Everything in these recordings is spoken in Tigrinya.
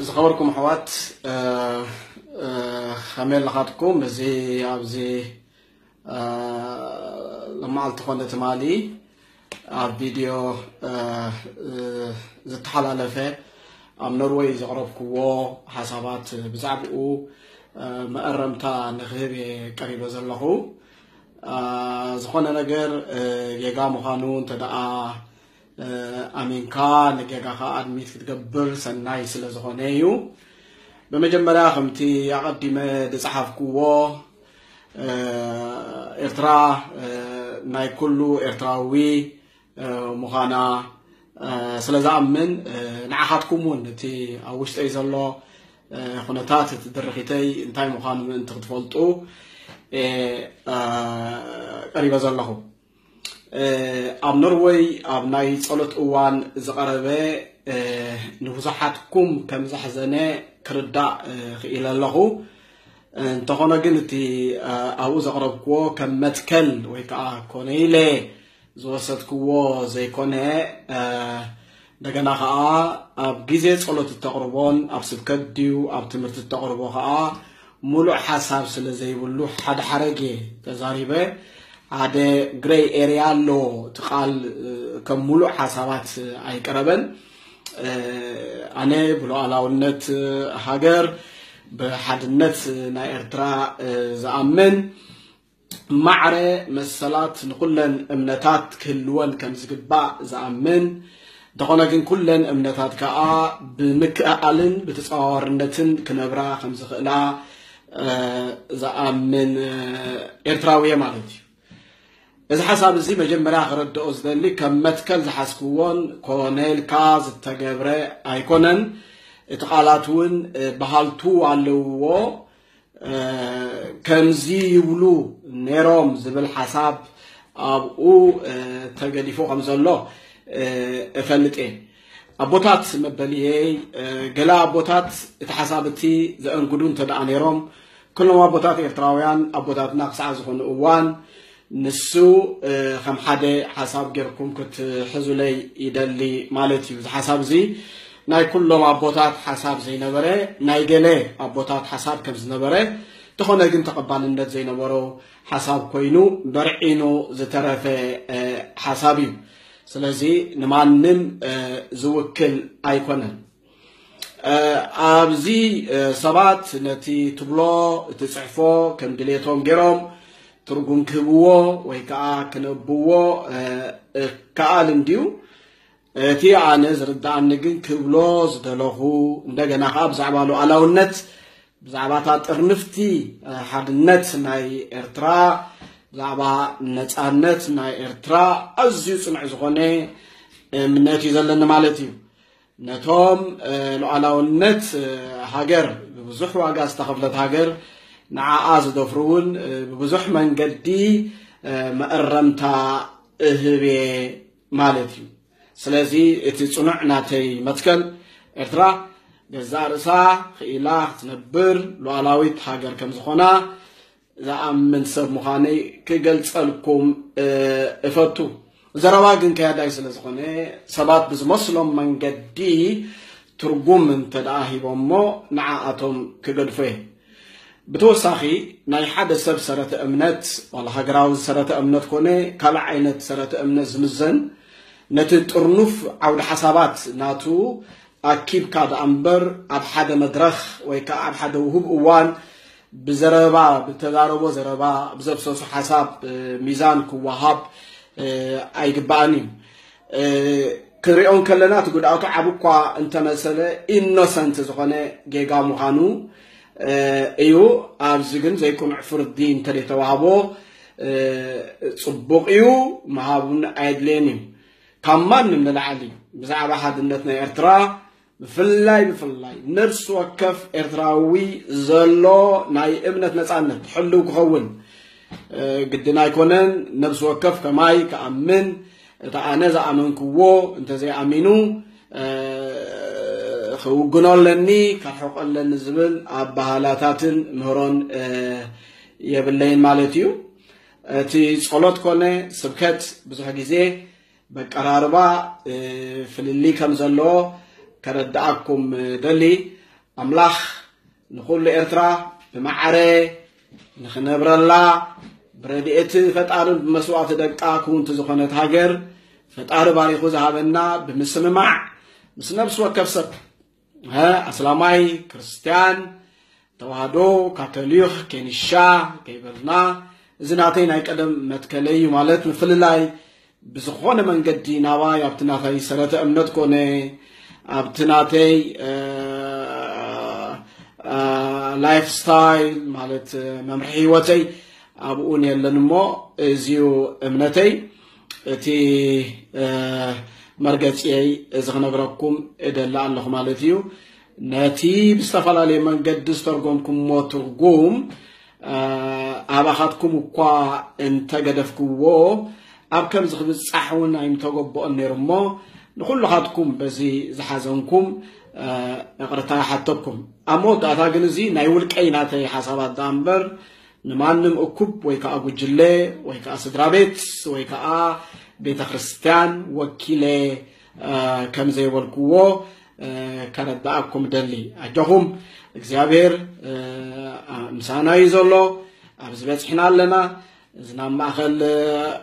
ዝኸበርኩም ኣሕዋት፣ እ፣ እ፣ ከመይ ኣለኻትኩም? እዚ ኣብዚ፣ እ፣ ሎማዓልቲ ኮነ ትማሊ ኣብ ቪድዮ፣ እ፣ እ፣ ዝተሓላለፈ ኣብ ኖርወይ ዘቕረብክዎ ሓሳባት ብዛዕባኡ፣ እ፣ መእረምታ ንክህብ እየ ቀሪበ ዘለኹ። እ፣ ዝኾነ ነገር፣ እ፣ ጌጋ ምዃኑ እንተ ደኣ እ፣ ኣሚንካ ንጌጋኻ ኣድሚት ክትገብር ሰናይ ስለ ዝኾነ እዩ። ብመጀመርያ ከምቲ ኣቐዲመ ዝጸሓፍክዎ፣ እ፣ ኤርትራ፣ እ፣ ናይ ኩሉ ኤርትራዊ፣ እ፣ ምዃና፣ እ፣ ስለ ዝኣምን፣ እ፣ ንዓኻትኩም እውን እቲ ኣብ ውሽጠይ ዘሎ፣ እ፣ ኩነታት እቲ ድርኺተይ እንታይ ምዃኑ ምእንቲ ክትፈልጡ፣ እ፣ እ፣ ቀሪበ ዘለኹ። እ፣ ኣብ ኖርወይ ኣብ ናይ ጸሎት እዋን ዝቐረበ፣ እ፣ ንብዙሓትኩም ከም ዘሕዘነ ክርዳእ፣ እ፣ ክኢለ ኣለኹ። እንተኾነ ግን እቲ፣ እ፣ ኣብኡ ዘቕረብክዎ ከም መትከል ወይ ከኣ ኮነ ኢለ ዝወሰድክዎ ዘይኮነ፣ እ፣ እንደገና ከኣ ኣብ ግዜ ጸሎት እተቕርቦን ኣብ ስብከት ድዩ ኣብ ትምህርቲ እተቕርቦ ከኣ ምሉእ ሓሳብ ስለ ዘይብሉ ሓደ ሓረግ እየ ተዛሪበ። ሓደ ግሬይ ኤርያ ኣሎ። እቲ ቃል፣ እ፣ ከም ምሉእ ሓሳባት ኣይቀረበን። እ፣ ኣነ ብሉዓላውነት ሃገር፣ ብሓድነት ናይ ኤርትራ፣ እ፣ ዝኣምን፣ ማዕረ መሰላት ንኹለን እምነታት ክህልወን ከም ዝግባእ ዝኣምን፣ እንተኾነ ግን ኩለን እምነታት ከኣ ብምክእኣልን ብተጻዋርነትን ክነብራ ከም ዝኽእላ፣ እ፣ ዝኣምን፣ እ፣ ኤርትራዊ እየ ማለት እዩ። እዚ ሓሳብ እዚ መጀመርያ ክረድኦ ዝደሊ፣ ከም መትከል ዝሓዝክዎን ኮነ ኢልካ ዝተገብረ ኣይኮነን። እቲ ቃላት እውን፣ እ፣ በሃልቱ ኣለውዎ። እ፣ ከምዚ ይብሉ ነይሮም ዝብል ሓሳብ ኣብኡ፣ እ፣ ተገዲፉ ከም ዘሎ፣ እ፣ እፈልጥ እየ። ኣቦታት መበልየይ፣ እ፣ ገለ ኣቦታት እቲ ሓሳብ እቲ ዘእንግዱ እንተ ደኣ ነይሮም፣ ኩሎም ኣቦታት ኤርትራውያን ኣቦታትና ክሳዕ ዝኾኑ እዋን፣ ንሱ፣ እ፣ ከም ሓደ ሓሳብ ጌርኩም ክትሕዙለይ ይደሊ ማለት እዩ። እዚ ሓሳብ እዚ ናይ ኩሎም ኣቦታት ሓሳብ ዘይነበረ፣ ናይ ገለ ኣቦታት ሓሳብ ከም ዝነበረ፣ እንተኾነ ግን ተቐባልነት ዘይነበሮ ሓሳብ ኮይኑ በርዒኑ ዝተረፈ፣ እ፣ ሓሳብ እዩ። ስለዚ ንማንም፣ እ፣ ዝውክል ኣይኮነን። እ፣ ኣብዚ፣ እ፣ ሰባት ነቲ ትብሎ፣ እቲ ጽሕፎ ከም ድሌቶም ገይሮም ትርጉም ክህብዎ ወይ ከኣ ክነብዎ፣ እ፣ እ፣ ከኣል እንድዩ። እቲ ኣነ ዝርድኣኒ ግን ክብሎ ዝደለኹ፣ እንደገና ከኣ ብዛዕባ ሉዓላውነት፣ ብዛዕባ እታ ጥርንፍቲ፣ እ፣ ሓድነት ናይ ኤርትራ፣ ብዛዕባ ነጻነት ናይ ኤርትራ ኣዝዩ ጽኑዕ ዝኾነ እምነት እዩ ዘለኒ ማለት እዩ። ነቶም፣ እ፣ ሉዓላውነት፣ እ፣ ሃገር፣ ብብዙሕ ዋጋ ዝተኸፍለት ሃገር፣ ንዓኣ ዝደፍሩ እውን፣ እ፣ ብብዙሕ መንገዲ፣ እ፣ መእረምታ እህብ እየ ማለት እዩ። ስለዚ እቲ ጽኑዕ ናተይ መትከል፣ ኤርትራ ገዛእ ርእሳ ክኢላ ክትነብር ሉዓላዊት ሃገር ከም ዝኾና ዝኣምን ሰብ ምዃነይ ክገልጸልኩም፣ እ፣ እፈቱ። ዘረባ ግን ከያዳይ ስለ ዝኾነ፣ ሰባት ብዝመስሎም መንገዲ ትርጉም እንተ ደኣ ሂቦሞ፣ ንዓኣቶም ክገድፎ እየ። ብተወሳኺ፣ ናይ ሓደ ሰብ ሰረተ እምነት፣ ዋላ ሃገራዊ ሰረተ እምነት ኮነ ካልእ ዓይነት ሰረተ እምነት ዝምዘን፣ ነቲ ጥርኑፍ ዓውዲ ሓሳባት ናቱ ኣኪብካ ደኣ እምበር፣ ኣብ ሓደ መድረኽ ወይ ከኣ ኣብ ሓደ ውሁብ እዋን ብዘረባ፣ ብተዛረቦ ዘረባ፣ ብዘፍሰሶ ሓሳብ፣ እ፣ ሚዛን ክወሃብ፣ እ፣ ኣይግባእን እዩ። እ፣ ክንሪኦ እንከለና፣ እቲ ጉድኣቱ ዓቢ እኳ እንተመሰለ፣ ኢኖሰንት ዝኾነ ጌጋ ምዃኑ፣ እ፣ እዩ። ኣብዚ ግን ዘይቅኑዕ ፍርዲ እንተደይተዋህቦ፣ እ፣ ጽቡቕ እዩ፣ ምሃብ እውን ኣየድልየን እዩ። ካብ ማንም ንላዕሊ ብዛዕባ ሓድነት ናይ ኤርትራ፣ ብፍላይ፣ ብፍላይ ነፍሲ ወከፍ ኤርትራዊ ዘሎ ናይ እምነት ነጻነት ሕልው ክኸውን፣ እ፣ ግድን ኣይኮነን። ነፍሲ ወከፍ ከማይ ክኣምን፣ እቲ ኣነ ዝኣመንክዎ እንተዘይኣሚኑ፣ እ፣ ክውግኖ ኣለኒ፣ ከርሕቆ ኣለኒ ዝብል ኣበሃላታትን ምህሮን፣ እ፣ የብለይን ማለት እዩ። እቲ ጸሎት ኮነ ስብከት ብዙሕ ግዜ በቀራርባ፣ እ፣ ፍልልይ ከም ዘለዎ፣ ከረድኣኩም ደሊ። ኣምላኽ ንኹሉ ኤርትራ ብማዕረ ንኽነብረላ ብረድኤት ፈጣርን ብመስዋእቲ ደቃ ክውንቲ ዝኾነት ሃገር ፈጣሪ ባሪኹ ዝሃበና ብምስምማዕ ምስ ነብሲ ወከፍ ሰብ፣ ሀ፣ ኣስላማይ፣ ክርስትያን፣ ተዋህዶ፣ ካቶሊኽ፣ ኬንሻ ከይበልና፣ እዚ ናተይ ናይ ቀደም መትከለይ እዩ። ማለት ምፍልላይ ብዝኾነ መንገዲ ናባይ ኣብቲ ናተይ ሰረተ እምነት ኮነ ኣብቲ ናተይ ላይፍ ስታይል፣ ማለት መምርሒ ህይወተይ ኣብኡን የለን እሞ፣ እዚዩ እምነተይ። እቲ መርገፂየይ እዚ ክነግረኩም እደሊ ኣለኹ ማለት እዩ። ነቲ ብዝተፈላለየ መንገዲ ዝተርጎምኩምዎ ትርጉም ኣባኻትኩም እኳ እንተገደፍክዎ፣ ኣብ ከምዚ ክብጻሕ እውን ኣይምተገበኦን ነይሩ እሞ፣ ንኹልኻትኩም በዚ ዝሓዘንኩም ይቕርታ ይሓተኩም። ኣብ መወዳእታ ግን እዚ ናይ ውልቀይ ናተይ ሓሳባት ደኣ እምበር ንማንም እኩብ ወይ ከዓ ጉጅለ ወይ ከዓ ስድራ ቤት ወይ ከዓ ቤተ ክርስቲያን ወኪለ ከም ዘይበልክዎ ከረዳኣኩም ደሊ። ኣጆኹም፣ እግዚኣብሔር ምሳና እዩ ዘሎ። ኣብዚ በፅሕና ኣለና። እዚ ናብ ማእኸል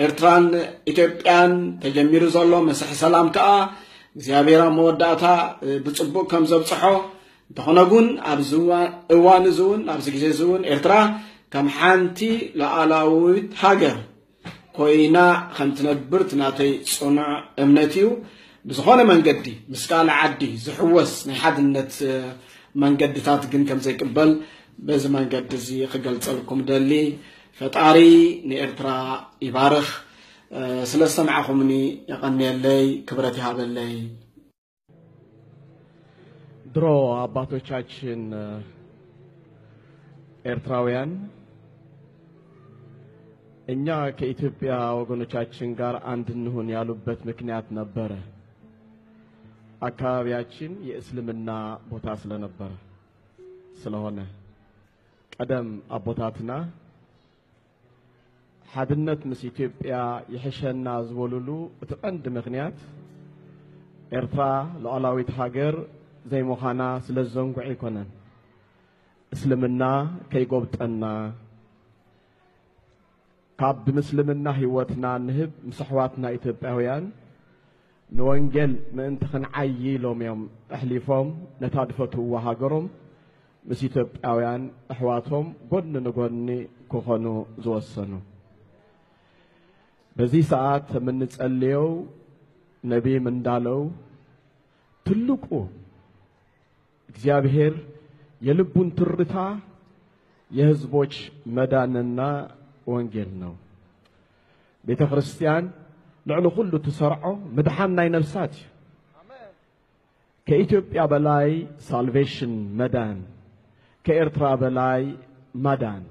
ኤርትራን ኢትዮጵያን ተጀሚሩ ዘሎ መስርሕ ሰላም ከዓ እግዚኣብሔር ኣብ መወዳእታ ብፅቡቅ ከም ዘብፅሖ፣ እንተኾነ ግን ኣብዚ እዋን እዚ እውን ኣብዚ ግዜ እዚ እውን ኤርትራ ከም ሓንቲ ሉዓላዊት ሃገር ኮይና ከም ትነብር እቲ ናተይ ጽኑዕ እምነት እዩ። ብዝኾነ መንገዲ ምስ ካልእ ዓዲ ዝሕወስ ናይ ሓድነት መንገድታት ግን ከም ዘይቅበል በዚ መንገዲ እዚ ክገልጸልኩም ደሊ። ፈጣሪ ንኤርትራ ይባርኽ። ስለ ዝሰማዕኹምኒ የቐንየለይ፣ ክብረት ይሃበለይ። ድሮ አባቶቻችን ኤርትራውያን እኛ ከኢትዮጵያ ወገኖቻችን ጋር አንድ እንሁን ያሉበት ምክንያት ነበረ። አካባቢያችን የእስልምና ቦታ ስለነበረ ስለሆነ ቀደም አቦታትና ሓድነት ምስ ኢትዮጵያ ይሕሸና ዝበሉሉ እቲ ቀንዲ ምኽንያት ኤርትራ ሉዓላዊት ሃገር ዘይምዃና ስለ ዝዘንግዑ ኣይኮነን። እስልምና ከይጎብጠና ካብ ብምስልምና ህይወትና ንህብ ምስ ኣሕዋትና ኢትዮጵያውያን ንወንጌል ምእንቲ ክንዓዪ ኢሎም እዮም ኣሕሊፎም ነታ ድፈትውዋ ሃገሮም ምስ ኢትዮጵያውያን ኣሕዋቶም ጎኒ ንጎኒ ክኾኑ ዝወሰኑ። በዚ ሰዓት የምንጸልየው ነቢይም እንዳለው ትልቁ እግዚአብሔር የልቡን ትርታ የህዝቦች መዳንና ወንጌል ነው። ቤተ ክርስቲያን ልዕሊ ኩሉ ትሰርዖ ምድሓን ናይ ነፍሳት እዩ። ከኢትዮጵያ በላይ ሳልቬሽን መዳን፣ ከኤርትራ በላይ ማዳን።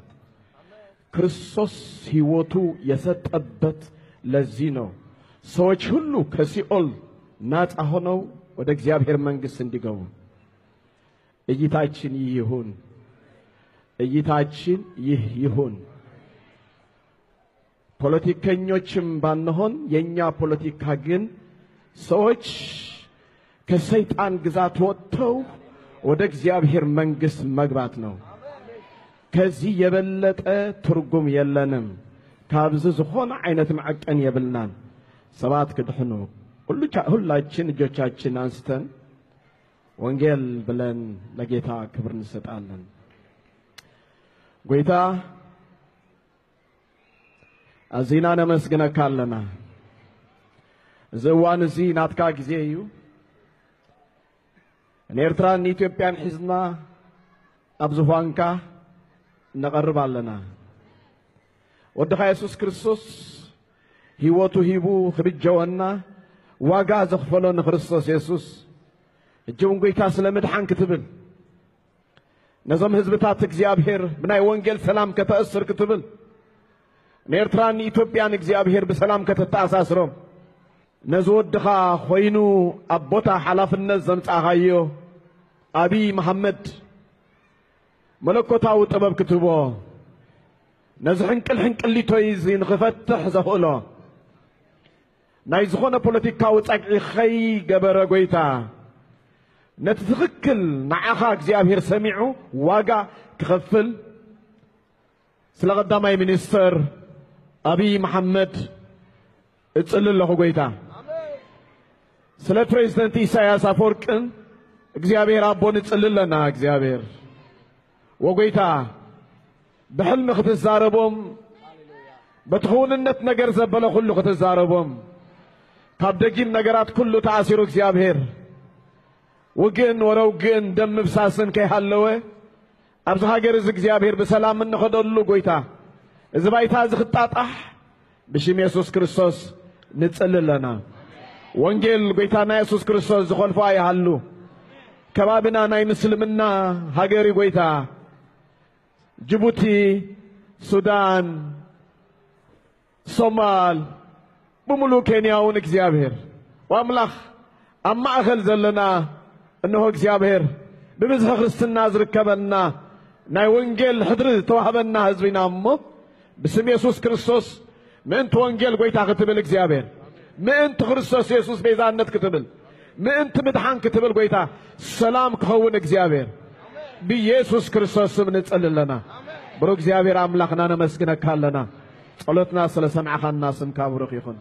ክርስቶስ ህይወቱ የሰጠበት ለዚህ ነው። ሰዎች ሁሉ ከሲኦል ናጻ ሆነው ወደ እግዚአብሔር መንግስት እንዲገቡ እይታችን ይህ ይሁን። እይታችን ይህ ይሁን። ፖለቲከኞችም ባንሆን የኛ ፖለቲካ ግን ሰዎች ከሰይጣን ግዛት ወጥተው ወደ እግዚአብሔር መንግስት መግባት ነው። ከዚህ የበለጠ ትርጉም የለንም። ካብዚ ዝኾነ ዓይነት መዐቀን የብልናን። ሰባት ክድሕኑ ሁሉ ቻ- ሁላችን እጆቻችን አንስተን ወንጌል ብለን ለጌታ ክብር እንሰጣለን። ጎይታ ኣዚና ነመስግነካ ኣለና። እዚ እዋን እዚ ናትካ ግዜ እዩ። ንኤርትራን ንኢትዮጵያን ሒዝና ኣብ ዝፋንካ ነቐርብ ኣለና። ወድኻ የሱስ ክርስቶስ ህይወቱ ሂቡ ክብጀወና ዋጋ ዘኽፈሎ ንክርስቶስ የሱስ ሕጂ እውን ጎይታ ስለ ምድሓን ክትብል ነዞም ህዝብታት እግዚኣብሔር ብናይ ወንጌል ሰላም ከተእስር ክትብል ንኤርትራን ንኢትዮጵያን እግዚኣብሔር ብሰላም ከተተኣሳስሮም ነዚ ወድኻ ኮይኑ ኣብ ቦታ ሓላፍነት ዘምጻእኻዮ ኣብይ መሓመድ መለኮታዊ ጥበብ ክትህቦ ነዚ ሕንቅል ሕንቅሊቶይ እዚ ንኽፈትሕ ዘኽእሎ ናይ ዝኾነ ፖለቲካዊ ጸግዒ ኸይገበረ ጎይታ ነቲ ትኽክል ንዓኻ እግዚኣብሔር ሰሚዑ ዋጋ ክኸፍል ስለ ቀዳማይ ሚኒስተር ኣብይ መሓመድ እጽሊ ኣለኹ ጎይታ። ስለ ፕሬዚደንት ኢሳያስ ኣፈወርቅን እግዚኣብሔር ኣቦ ንጽሊ ኣለና። እግዚኣብሔር ወጎይታ ብሕልሚ ክትዛረቦም፣ በቲ ክውንነት ነገር ዘበለ ኩሉ ክትዛረቦም፣ ካብ ደጊም ነገራት ኩሉ ተኣሲሩ እግዚኣብሔር ውግእን ወረ ውግእን ደም ምፍሳስን ከይሃለወ ኣብዚ ሃገር እዚ እግዚኣብሔር ብሰላም እንኸደሉ ጎይታ፣ እዚ ባይታ እዚ ክጣጣሕ ብሽም የሱስ ክርስቶስ ንጽሊ ኣለና። ወንጌል ጎይታና የሱስ ክርስቶስ ዝኸልፎ ኣይሃሉ። ከባብና ናይ ምስልምና ሃገር እዩ ጎይታ። ጅቡቲ፣ ሱዳን፣ ሶማል፣ ብምሉእ ኬንያ እውን እግዚኣብሔር ወኣምላኽ ኣብ ማእኸል ዘለና እንሆ እግዚኣብሔር ብብዝሒ ክርስትና ዝርከበና ናይ ወንጌል ሕድሪ ዝተዋህበና ህዝቢ ኢና እሞ ብስም የሱስ ክርስቶስ ምእንቲ ወንጌል ጎይታ ክትብል እግዚኣብሔር ምእንቲ ክርስቶስ የሱስ ቤዛነት ክትብል ምእንቲ ምድሓን ክትብል ጎይታ ሰላም ክኸውን እግዚኣብሔር ብኢየሱስ ክርስቶስ ስም ንጽሊ ኣለና። ብሩክ እግዚኣብሔር ኣምላኽና ነመስግነካ ኣለና። ጸሎትና ስለ ሰምዕኻና ስምካ ብሩክ ይኹን።